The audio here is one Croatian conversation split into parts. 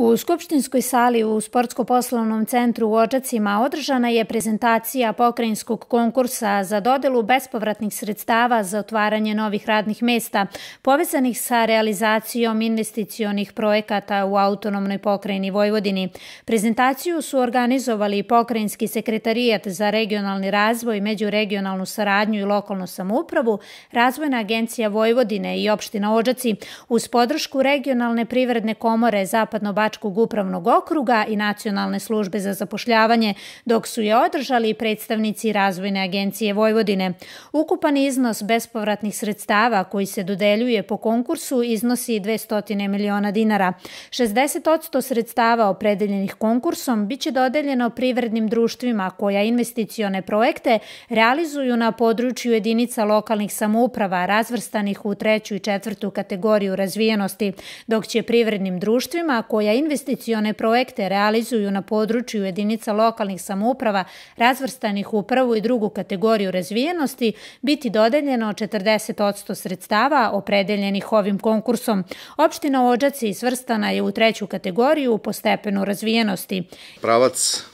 U Skupštinskoj sali u Sportsko-poslovnom centru u Odžacima održana je prezentacija pokrajinskog konkursa za dodelu bespovratnih sredstava za otvaranje novih radnih mesta povezanih sa realizacijom investicionih projekata u autonomnoj pokrajini Vojvodini. Prezentaciju su organizovali Pokrajinski sekretarijat za regionalni razvoj, međuregionalnu saradnju i lokalnu samoupravu, Razvojna agencija Vojvodine i opština Odžaci uz podršku Regionalne privredne komore Zapadno-Bačkog upravnog okruga i Nacionalne službe za zapošljavanje, dok su je održali predstavnici Razvojne agencije Vojvodine. Ukupan iznos bespovratnih sredstava koji se dodeljuje po konkursu iznosi 200 miliona dinara. 60% sredstava opredeljenih konkursom biće dodeljeno privrednim društvima koja investicione projekte realizuju na području jedinica lokalnih samouprava razvrstanih u 3. i 4. kategoriju razvijenosti, dok će privrednim društvima koja investicione projekte realizuju na području jedinica lokalnih samouprava razvrstanih u 1. i 2. kategoriju razvijenosti biti dodeljeno 40% sredstava opredeljenih ovim konkursom. Opština Odžaci svrstana je u 3. kategoriju po stepenu razvijenosti. Pravac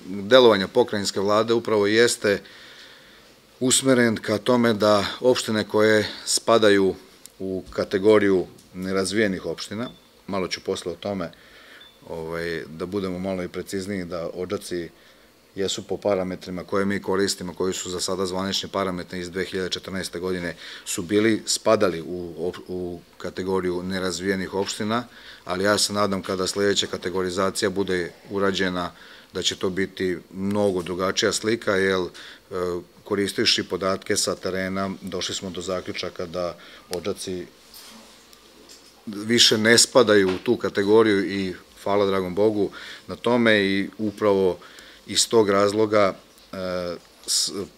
delovanja pokrajinske vlade upravo jeste usmeren ka tome da opštine koje spadaju u kategoriju nerazvijenih opština, malo ću posle o tome da budemo malo i precizniji, da Odžaci jesu po parametrima koje mi koristimo, koji su za sada zvanični parametri iz 2014. godine, su spadali u kategoriju nerazvijenih opština, ali ja se nadam kada sledeća kategorizacija bude urađena da će to biti mnogo drugačija slika, jer koristivši podatke sa terena došli smo do zaključaka da Odžaci više ne spadaju u tu kategoriju i hvala dragom Bogu na tome i upravo iz tog razloga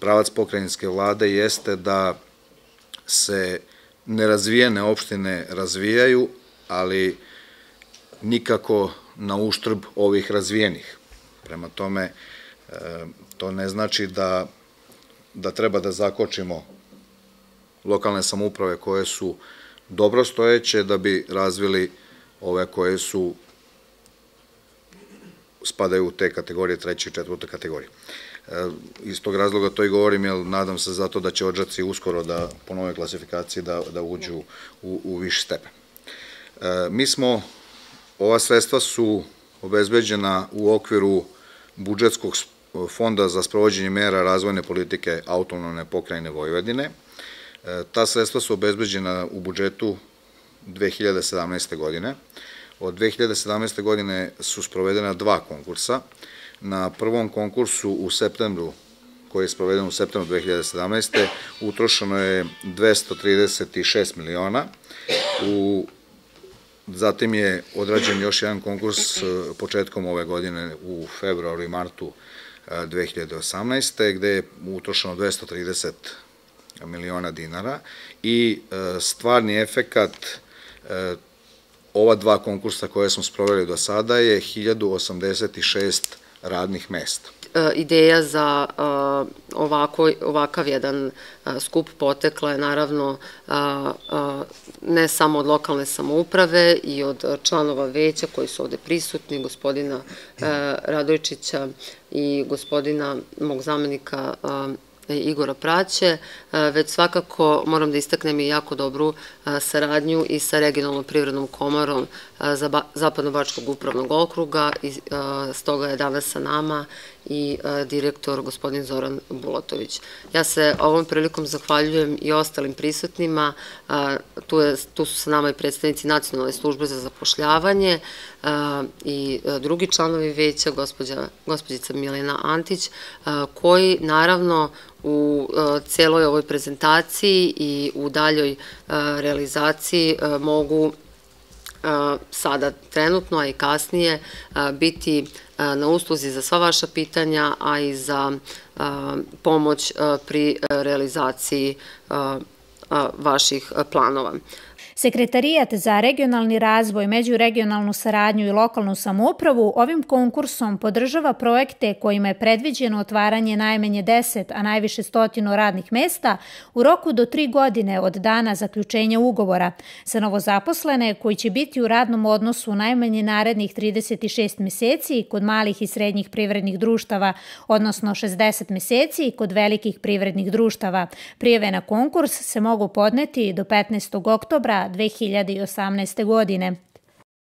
pravac pokrajinske vlade jeste da se nerazvijene opštine razvijaju, ali nikako na uštrb ovih razvijenih. Prema tome, to ne znači da treba da zakočimo lokalne samouprave koje su dobro stojeće da bi razvili ove koje spadaju u te kategorije, 3. i 4. kategorije. Iz tog razloga to i govorim, jer nadam se zato da će Odžaci uskoro po novoj klasifikaciji da uđu u viši stepen. Ova sredstva su obezbeđena u okviru budžetskog fonda za sprovođenje mera razvojne politike autonomne pokrajine Vojvodine. Ta sredstva su obezbeđena u budžetu 2017. godine. Od 2017. godine su sprovedena 2 konkursa. Na prvom konkursu u septembru, koji je sproveden u septembru 2017. utrošeno je 236 miliona. Zatim je odrađen još jedan konkurs početkom ove godine u februaru i martu 2018. gde je utrošeno 230 miliona dinara i stvarni efekat ova 2 konkursa koje smo sproveli do sada je 1086 radnih mesta. Ideja za ovakav jedan skup potekla je naravno ne samo od lokalne samouprave i od članova veća koji su ovde prisutni, gospodina Radojčića i gospodina mog zamenika Igora Praće, već svakako moram da istaknem i jako dobru saradnju i sa Regionalnom privrednom komorom Zapadno-Bačkog upravnog okruga i stoga je danas sa nama i direktor gospodin Zoran Bulatović. Ja se ovom prilikom zahvaljujem i ostalim prisutnima, tu su sa nama i predstavnici Nacionalne službe za zapošljavanje i drugi članovi veća, gospođica Milena Antić, koji naravno u celoj ovoj prezentaciji i u daljoj realizaciji mogu sada trenutno, a i kasnije biti na usluzi za sva vaša pitanja, a i za pomoć pri realizaciji vaših planova. Sekretarijat za regionalni razvoj, međuregionalnu saradnju i lokalnu samoupravu ovim konkursom podržava projekte kojima je predviđeno otvaranje najmanje 10, a najviše 100 radnih mesta u roku do 3 godine od dana zaključenja ugovora za novozaposlene koji će biti u radnom odnosu najmanje narednih 36 meseci kod malih i srednjih privrednih društava, odnosno 60 meseci kod velikih privrednih društava. Prijave na konkurs se mogu podneti do 15. oktobra 2018. godine.